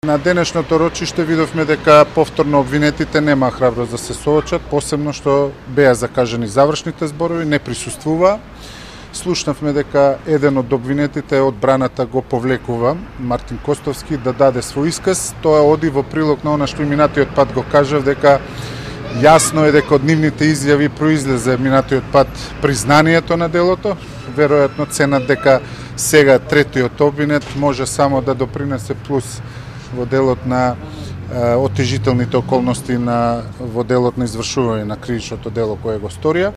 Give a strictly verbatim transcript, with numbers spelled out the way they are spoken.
На денешното рочиште видовме дека повторно обвинетите нема храброст да се соочат, посебно што беа закажани завршните зборови, не присуствува. Слушнавме дека еден од обвинетите одбраната го повлекува, Мартин Костовски, да даде свој исказ. Тоа оди во прилог на она што и минатиот пат го кажав, дека јасно е дека од нивните изјави произлезе минатиот пат признанието на делото. Веројатно ценат дека сега третиот обвинет може само да допринесе плюс во делот на отежителните околности на во делот на извршување на кривичното дело кое го сторија.